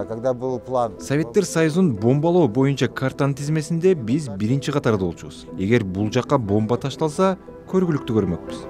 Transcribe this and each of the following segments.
Когда был план... Советтер Союзун бомбалоо боюнча картанын тизмесинде биз биринчи катарда болчубуз. Эгер бул жакка бомба ташталса, көргүлүктүү көрмөкпүз.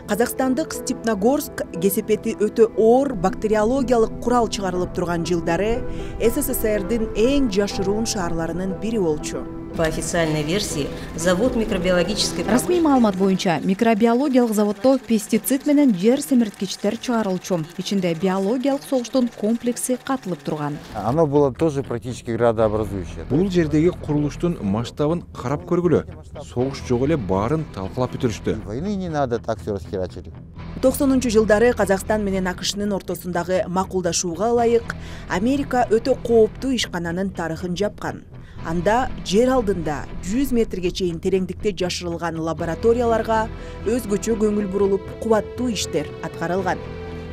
Казакстандык Степногорск кесепети өтө оор бактериологиялык курал чыгарылып турган жылдары СССРдин эң жашыруун шаарларынын бири болчу. По официальной версии, завод микробиологической... Расмий маалымат боюнча микробиологиялык заводдо пестицид менен жер семирткичтер чыгарылчу. Ичинде биологиялык согуштун комплекси катылып турган. Оно было тоже практически градообразующее. Бул жердеги курулуштун масштабын карап көргүлө. Согуш жок эле баарын талкалап бүтүрүштү. Войны не надо, так все расхерачили. 90-жылдары Казакстан менен АКШнын ортосундагы макулдашууга ылайык Америка өтө кооптуу ишкананын тарыхын жапкан. Анда жер алдында 100 метрге чейин тереңдикте жашырылган лабораторияларга өзгөчө көңүл бурулуп, кубаттуу иштер аткарылган.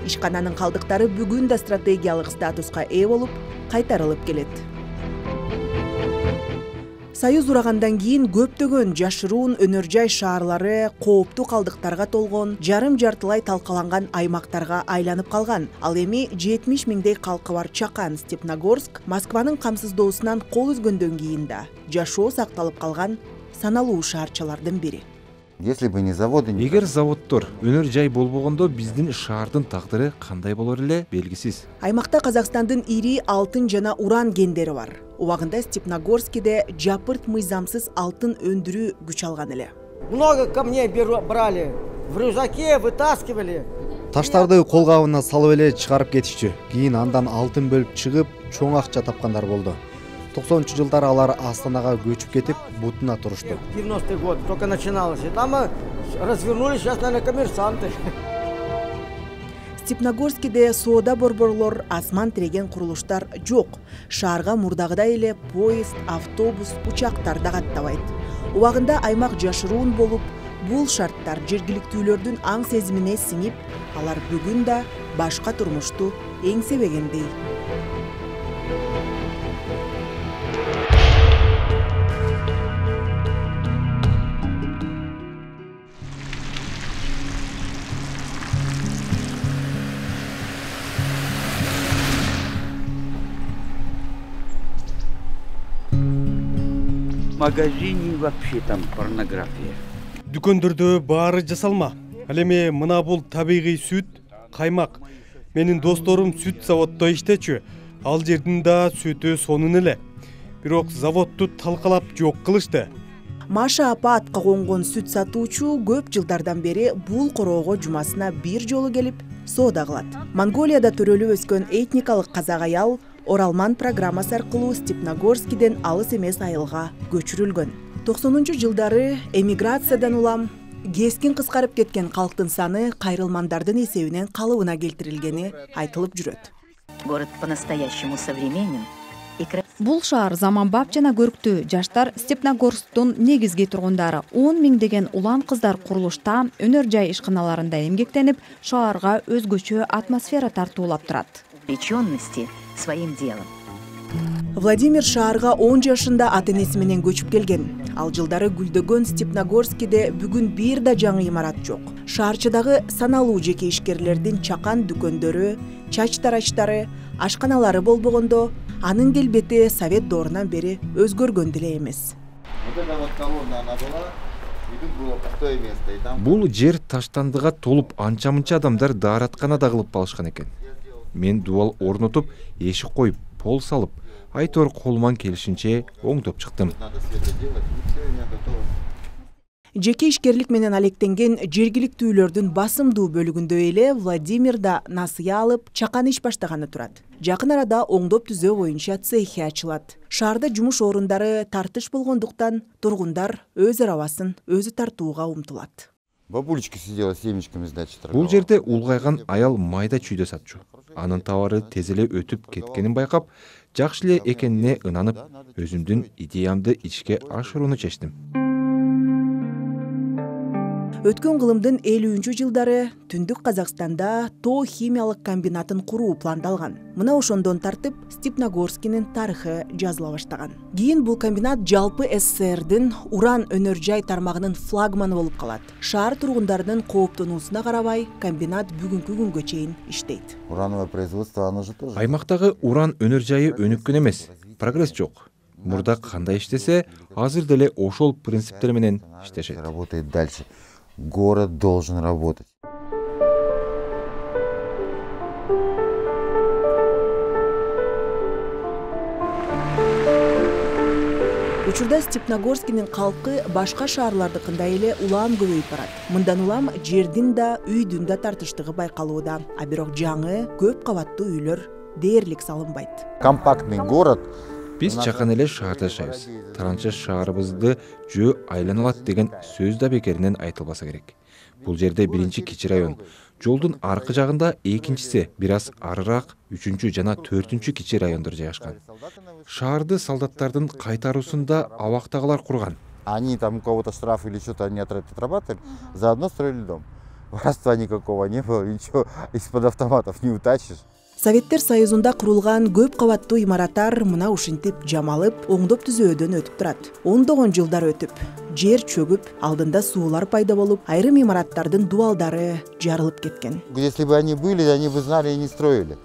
Ишкананын калдыктары бүгүн да стратегиялык статуска ээ болуп, кайтарылып келет. Союз урагандан кийин көптөгөн жашыруун өнөр жай шаарлары кооптуу калдыктарга толгон, жарым-жартылай талкаланган аймактарга айланып калган. Ал эми 70 миңдей калкы бар чакан Степногорск Москванын камсыздоосунан кол үзгөндөн кийин да жашоо сакталып калган саналуу шаарчалардын бири. Если бы не заводы... Эгер заводдор, өнөр жай болбогондо биздин шаардын тагдыры кандай болор эле белгисиз. Аймакта Казакстандын ири алтын жана уран кендери бар. Убагында Степногорскиде жапырт мыйзамсыз алтын өндүрүү күч алган эле. Много камней брали, в рюкзаке вытаскивали. Таштарды колгабына салып эле чыгарып кетишчү. Кийин андан алтын бөлүп чыгып, чоң акча тапкандар болду. 90-жылдары алар Астанага көчүп кетип, бутуна турушту. 90-й год только начиналось. И там развернулись, сейчас, наверное, коммерсанты. Степногорскиде соода борборлор, асман тиреген курулуштар жок. Шаарга мурдагыдай эле поезд, автобус, учактар да каттабайт. Убагында аймак жашыруун болуп, бул шарттар жергиликтүүлөрдүн аң сезимине сиңип, алар бүгүн да башка турмушту эңсебегендей. В магазине вообще там порнография. Дүкөндөрдө баары жасалма. Ал эми мына бул табигый сүт, каймак. Менин досторум сүт заводдо иштечү. Ал жердин да сүтү сонун эле. Бирок заводду талкалап жок кылышты. Маша апа атка конгон сүт сатуучу көп жылдардан бери бул короого жумасына бир жолу келип соода кылат. Монголияда төрөлүп өскөн этникалык казак аял Оралман программасы аркылуу Степногорскиден алыс эмес айылга көчүрүлгөн. 90-жылдары эмиграциядан улам кескин кыскарып кеткен калктын саны кайрылмандардын эсебинен калыбына келтирилгени айтылып жүрөт. Город по-настоящему современен. Бул шаар заманбап жана көрктүү. Жаштар Степногорсктун негизги тургундары 10 миңдеген улан кыздар курулушта, өнөр жай ишканаларында эмгектенип, шаарга өзгөчө атмосфера тартуулап турат. Увлеченности своим делом. Владимир шаарга 10 жашында ата-энеси менен көчүп келген. Ал жылдары гүлдөгөн Степногорскиде бүгүн бир да жаңы имарат жок. Шаарчыдагы саналуу жеке ишкерлердин чакан дүкөндөрү, чач тарачтары, ашканалары болбогондо, анын келбети Совет доорунан бери өзгөргөн деле эмес. Бул жер таштандыга толуп анча-мынча адамдар дааратканада кылып алышкан экен. Мен дубал орнотуп, эшик коюп, пол салып, айтор колуман келишинче оңдоп чыктым. Жеке ишкерлик менен алектенген жергиликтүүлөрдүн басымдуу бөлүгүндө эле Владимир да насыя алып, чакан иш баштаганы турат. Жакын арада оңдоп түзөө боюнча цехи ачылат. Шаарда жумуш орундары тартыш болгондуктан тургундар өз арабасын өзү тартууга умтулат. Бабулечка сидела семечками, значит. Бул жерде улгайган аял майда чүйдө сатчу. Анын товары тез эле өтүп кеткенин байкап, жакшы эле экенине ынанып, өзүмдүн идеямды ишке ашырууну чечтим. Өткөн кылымдын 50-жылдары Түндүк Казакстанда тоо химиялык комбинатын куруу пландалган. Мына ошондон тартып Степногорскийнин тарыхы жазыла баштаган. Кийин бул комбинат жалпы СССРдин уран өнөр жай тармагынын флагманы болуп калат. Шаар тургундарынын кооптонуусуна карабай, комбинат бүгүнкү күнгө чейин иштейт. Урановое производство, оно же тоже. Аймактагы уран өнөр жайы өнүккөн эмес, прогресс жок. Мурда кандай иштесе, азыр деле ошол принциптер менен иштешет. Работает дальше. Город должен работать. Учурда Степногорскийнин калкы башка шаарлардыкындай эле улам көбөйүп барат. Мындан улам жердин да, үйдүн да тартыштыгы байкалууда. А бирок жаңы, көп кабаттуу үйлөр дээрлик салынбайт. Компактный город. Биз чакан эле шаарда жашайбыз. Таранча шаарыбызды жөө айланалат деген сөз да бекеринен айтылбаса керек. Бул жерде биринчи кичи район, жолдун аркы жагында экинчиси, бир аз арыраак 3-чү жана 4-чү кичи райондор жайгашкан. Шаарды солдаттардын кайтаруусунда абактагылар курган. Они там у кого-то штраф или что-то они отрабатывали, заодно строили дом. Воровства никакого не было, ничего из-под автоматов не утащишь. Советтер Союзунда курулган көп кабаттуу имараттар мына ушинтип жамалып, оңдоп түзөөдөн өтүп турат. Ондогон жылдар өтүп, жер чөгүп, алдында суулар пайда болуп, айрым имараттардын дубалдары жарылып кеткен. Если бы они были, они бы знали и не строили.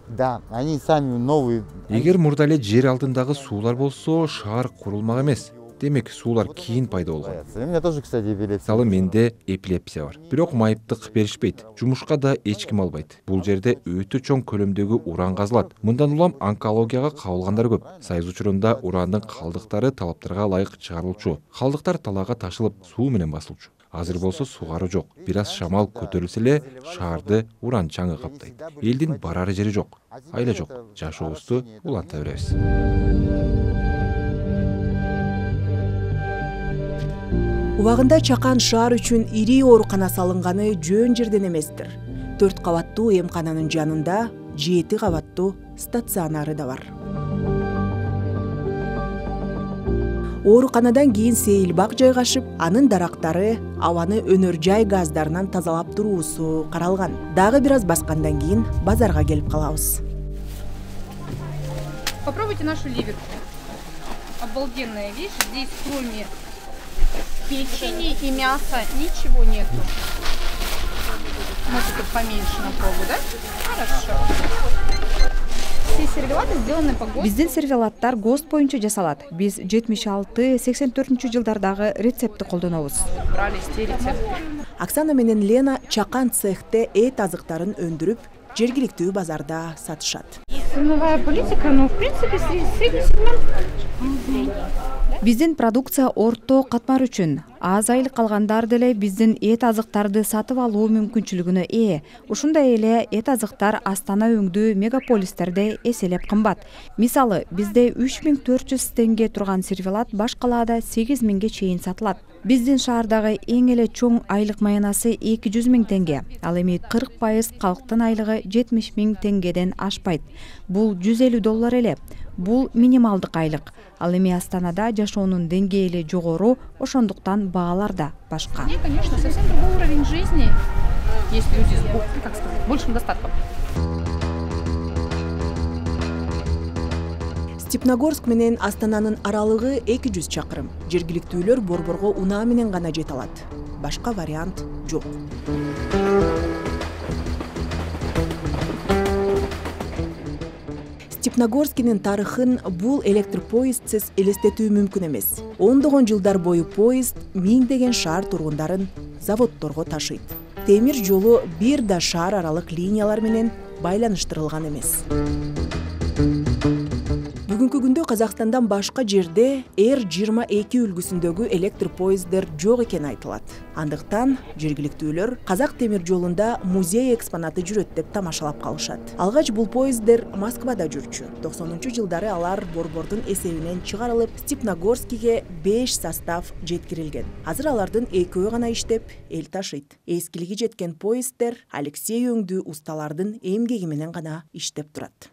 Да, они сами новые. Эгер мурда эле жер алдындагы суулар болсо, шаар курулмак эмес. Демек, суулар кийин пайда болгон. У меня тоже, кстати, эпилепсия. Мисалы, менде эпилепсия бар. Бирок майыптык беришпейт. Жумушка да эч ким албайт. Бул жерде өтө чоң көлөмдөгү уран казылат. Мындан улам онкологияга кабылгандар көп. Союз учурунда урандын калдыктары талаптарга ылайык чыгарылчу. Калдыктар талаага ташылып, суу менен басылчу. Азыр болсо сугаруу жок. Бир аз шамал көтөрүлсө эле шаарды уран чаңы каптайт. Элдин барары жери жок. Айла жок. Жашообузду уланта беребиз. Убагында Чакан шаар үчүн ири оорукана салынганы жөн жерден эместир. 4 кабаттуу эмкананын жанында 7 кабаттуу стационары да бар. Ооруканадан кийин сейилбак жайгашып, анын дарактары абаны өнөр жай газдарынан тазалап туруусу каралган. Дагы бир аз баскандан кийин базарга келип калабыз. Попробуйте нашу ливерку. Обалденная вещь. Здесь кроме печени и мяса ничего нету. Можете поменьше на пробу, да? Хорошо. Все сервелаты сделаны по ГОСТу. Биздин сервелаттар ГОСТ боюнча жасалат. Биз 76-84-жылдардагы рецептти колдонобуз. Брали те рецепты. Оксана менен Лена Чакан цехте эт азыктарын өндүрүп, жергиликтүү базарда сатышат. Ценовая политика, в принципе, средний сегмент. Биздин продукция орто катмар үчүн. Аз айлык калгандар деле биздин эт азыктарды сатып алуу мүмкүнчүлүгүнө ээ. Ушундай эле эт азыктар Астана өңдүү мегаполистерде эселеп кымбат. Мисалы, бизде 3400 теңге турган сервелат баш калаада 8000ге чейин сатылат. Биздин шаардагы эң эле чоң айлык маянасы 200 000 теңге. Ал эми 40% калктын айлыгы 70 000 теңгеден ашпайт. Бул $150 эле. Бул минималдык айлык. Ал эми Астанада жашоонун деңгээли жогору, ошондуктан баалар да башка. Нет, конечно, совсем другой уровень жизни. Есть люди с, как сказать, большим достатком. Степногорск менен Астананын аралыгы 200 чакырым. Жергиликтүүлөр борборго унаа менен гана жете алат. Башка вариант жок. Степногорскийнин тарыхын бул электр поездсиз элестетүү мүмкүн эмес. Ондогон жылдар бою поезд миңдеген шаар тургундарын заводдорго ташыйт. Темир жолу бир да шаар аралык линиялар менен байланыштырылган эмес. Бүгүнкү күндө Казакстандан башка жерде R22 үлгүсүндөгү электр поезддер жок экени айтылат. Андыктан жергиликтүүлөр Казак темир жолунда музей экспонаты жүрөт деп тамашалап калышат. Алгач бул поезддер Москвада жүрчү. 90-жылдары алар борбордун эсебинен чыгарылып, Степногорскиге 5 состав жеткирилген. Азыр алардын 2-өө гана иштеп, эл ташыйт. Эскилиги жеткен поезддер Алексей өңдүү усталардын эмгеги менен гана иштеп турат.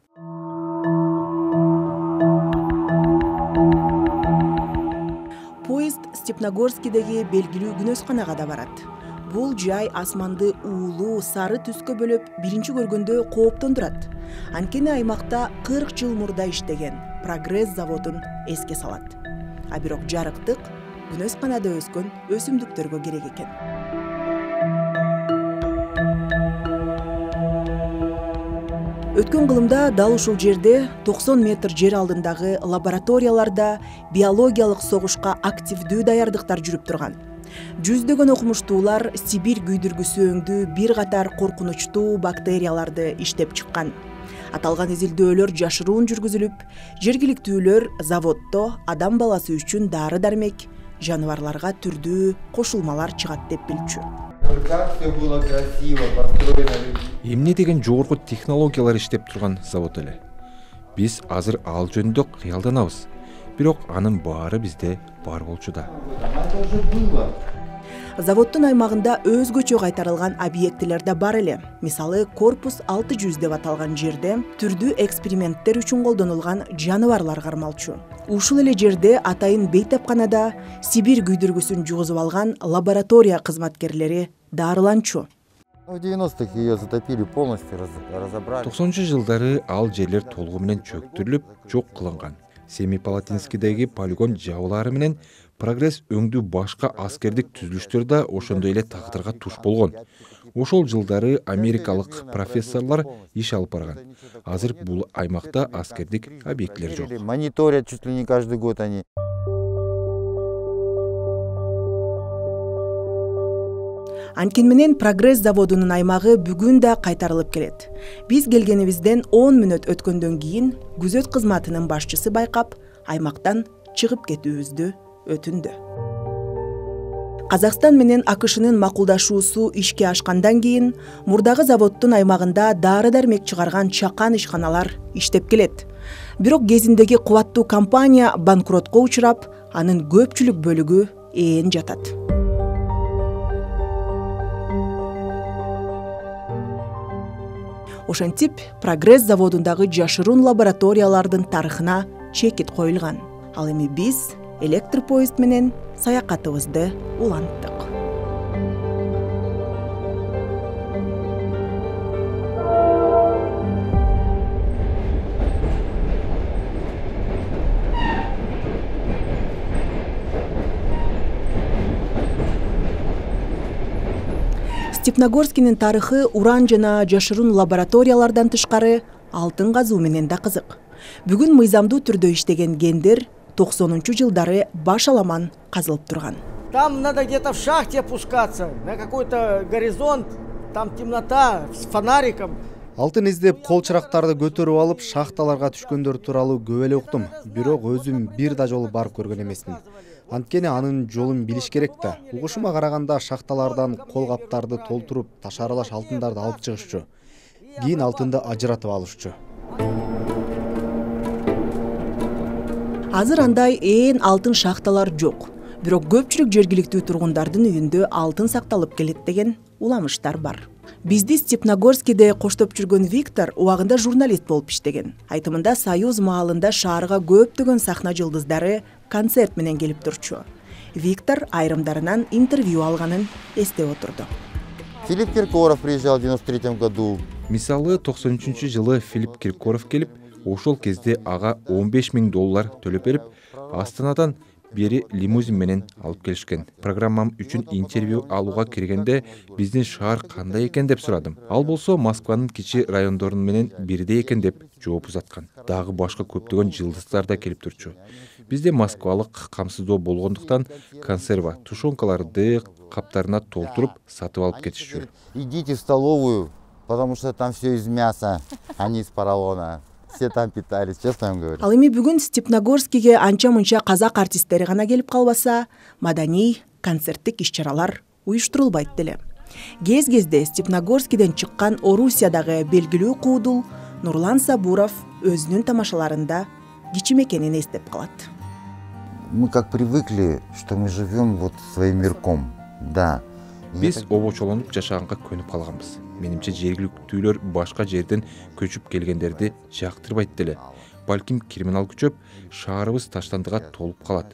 Поезд Степногорскийдеги белгилүү күнөсканага да барат. Бул жай асманды уулуу, сары түскө бөлөп, биринчи көргөндө кооптондурат. Анткени аймакта 40 жыл мурда иштеген Прогресс заводун эске салат. А бирок жарыктык күнөсканада өскөн өсүмдүктөргө керек экен. Өткөн кылымда дал ушул жерде 90 метр жер алдындагы лабораторияларда биологиялык согушка активдүү даярдыктар жүрүп турган. Жүздөгөн окумуштуулар Сибирь күйдүргүсү өңдүү бир катар коркунучтуу бактерияларды иштеп чыккан. Аталган изилдөөлөр жашыруун жүргүзүлүп, жергиликтүүлөр заводдо адам баласы үчүн дары-дармек, жаныбарларга түрдүү кошулмалар чыгат деп билчү. Эмне деген жогорку технологиялар иштеп турган завод эле. Биз азыр ал жөнүндө кыялданабыз. Бирок анын баары бизде бар болчу да. Заводдун аймагында өзгөчө кайтарылган объектилер да бар эле. Мисалы, корпус 600 деп аталган жерде түрдүү эксперименттер үчүн колдонулган жаныбарлар кармалчу. Ушул эле жерде атайын бейтапканада Сибирь күйдүргүсүн жугузуп алган лаборатория кызматкерлери дарыланчу. В 90-х ее затопили полностью, разобрали. 90-жылдары ал жерлер толугу менен чөктүрүлүп, жок кылынган. Семипалатинскийдеги полигон жабылары менен Прогресс өңдүү башка аскердик түзүлүштөр да ошондой эле тагдырга туш болгон. Ошол жылдары америкалык профессорлор иш алып барган. Азыр бул аймакта аскердик объектилер жок. Мониторят чуть ли не каждый год они. Анткени менен Прогресс заводунун аймагы бүгүн да кайтарылып келет. Биз келгенибизден 10 мүнөт өткөндөн кийин күзөт кызматынын башчысы байкап, аймактан чыгып кетүүбүздү өтүндү. Казакстан менен АКШнын макулдашуусу ишке ашкандан кийин мурдагы заводдун аймагында дары-дармек чыгарган чакан ишканалар иштеп келет. Бирок кезиндеги кубаттуу компания банкротко учурап, анын көпчүлүк бөлүгү ээн жатат. Ошентип, Прогресс заводундагы жашыруун лабораториялардын тарыхына чекит коюлган. Ал эми биз электропоезд менен саякатыбызды уланттык. Степногорскийдин тарыхы уран жана жашыруун лабораториялардан тышкары алтын казуу менен да кызык. Бүгүн мыйзамдуу түрдө иштеген гендер 90-жылдары баш аламан казылып турган. Там надо где-то в шахте опускаться, на какой-то горизонт, там темнота, с фонариком. Алтын издеп кол чырактарды көтөрүп алып шахталарга түшкөндөр тууралуу көп эле уктум. Бирок өзүм бир да жолу барып көргөн эмесмин. Анткени анын жолун билиш керек да. Угушума караганда шахталардан кол каптарды толтуруп, ташаралаш алтындарды алып чыгышчу. Кийин алтынды ажыратып алышчу. Азыр андай ээн алтын шахталар жок. Бирок көпчүлүк жергиликтүү тургундардын үйүндө алтын сакталып келет деген уламыштар бар. Бизди Степногорскийде коштоп жүргөн Виктор убагында журналист болуп иштеген. Айтымында Союз маалында шаарга көптөгөн сахна жылдыздары концерт менен келип турчу. Виктор айрымдарынан интервью алганын эстеп отурду. Филипп Киркоров приезжал в 93 году. Мисалы 93-жылы Филипп Киркоров келип, ошол кезде ага $15,000 төлөп берип, Астанадан бери лимузин менен алып келишкен. Программам үчүн интервью алууга киргенде биздин шаар кандай экен деп сурадым. Ал болсо Москванын кичи райондорун менен бирдей экен деп жооп узаткан. Дагы башка көптөгөн жылдыздар да келип турчу. Бизде москвалык камсыздоо болгондуктан консерва тушенкаларды каптарына толтуруп сатып алып кетишчү. Идите в столовую, потому что там все из мяса, а не из поролона. Все там питались, честно вам говорю. Ал эми бүгүн Степногорскийге анча-мынча казак артисттери гана келип калбаса, маданий, концерттик иш-чаралар уюштурулбайт деле. Кез-кезде Степногорскийден чыккан Орусиядагы белгилүү куудул Нурлан Сабуров өзүнүн тамашаларында кичим экенин эстеп калат. Мы как привыкли, что мы живем вот своим мирком. Да. Биз обочолонуп жашаганга көнүп калганбыз. Менимче жергиликтүүлөр башка жерден көчүп келгендерди жактырбайт деле. Балким криминал күчөп, шаарыбыз таштандыга толуп калат.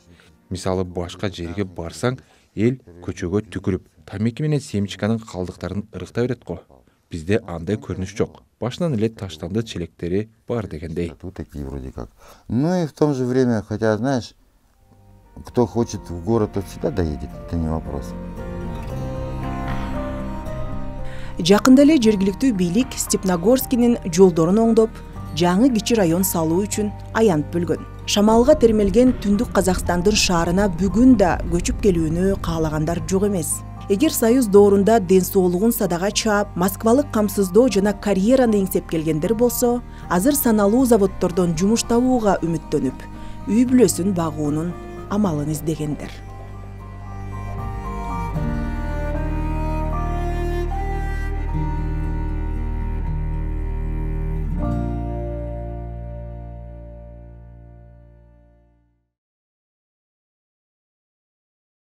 Мисалы башка жерге барсаң, эл көчөгө түкүрүп, тамеки менен семечканын калдыктарын ырыктай берет го. Бизде андай көрүнүш жок. Башынан эле таштанды челектери бар дегендей. Тут такие вроде как. Ну и в том же время, хотя, знаешь, кто хочет в город, тот всегда доедет, это не вопрос. Жакында эле жергиликтүү бийлик Степногорскинин жолдорун оңдоп, жаңы кичи район салуу үчүн аянт бөлгөн. Шамалга термелген түндүк Казакстандын шаарына бүгүн да көчүп келүүнү каалагандар жок эмес. Эгер Союз доорунда ден соолугун садага чаап, Москвалык камсыздоо жана карьераны эңсеп келгендер болсо, азыр саналуу заводдордон жумуш табууга үмүттөнүп, үй бүлөсүн багуунун амалын издегендер.